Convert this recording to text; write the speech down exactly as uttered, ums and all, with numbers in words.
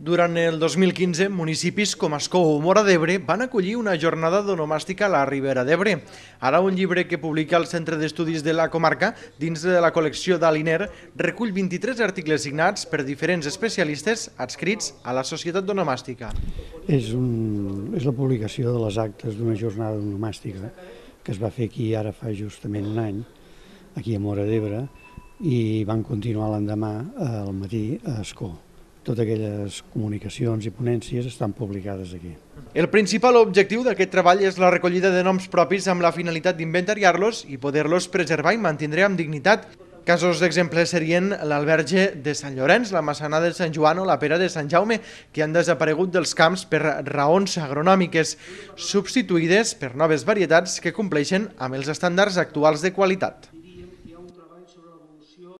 Durant el dos mil quinze, municipis com Ascó o Móra d'Ebre van acollir una jornada d'onomàstica a la Ribera d'Ebre. Ara un llibre que publica el Centre d'Estudis de la Comarca, dins de la col·lecció d'Aliner, recull vint-i-tres articles signats per diferents especialistes adscrits a la Societat d'Onomàstica. És, un, és la publicació de les actes d'una jornada onomàstica que es va fer aquí ara fa justament un any, aquí a Móra d'Ebre, i van continuar l'endemà al matí a Ascó. Totes aquelles comunicacions i ponències estan publicades aquí. El principal objectiu d'aquest treball és la recollida de noms propis amb la finalitat d'inventariar-los i poder-los preservar i mantenir amb dignitat. Casos d'exemples serien l'alberge de Sant Llorenç, la massana de Sant Joan o la pera de Sant Jaume, que han desaparegut dels camps per raons agronòmiques, substituïdes per noves varietats que compleixen amb els estàndards actuals de qualitat.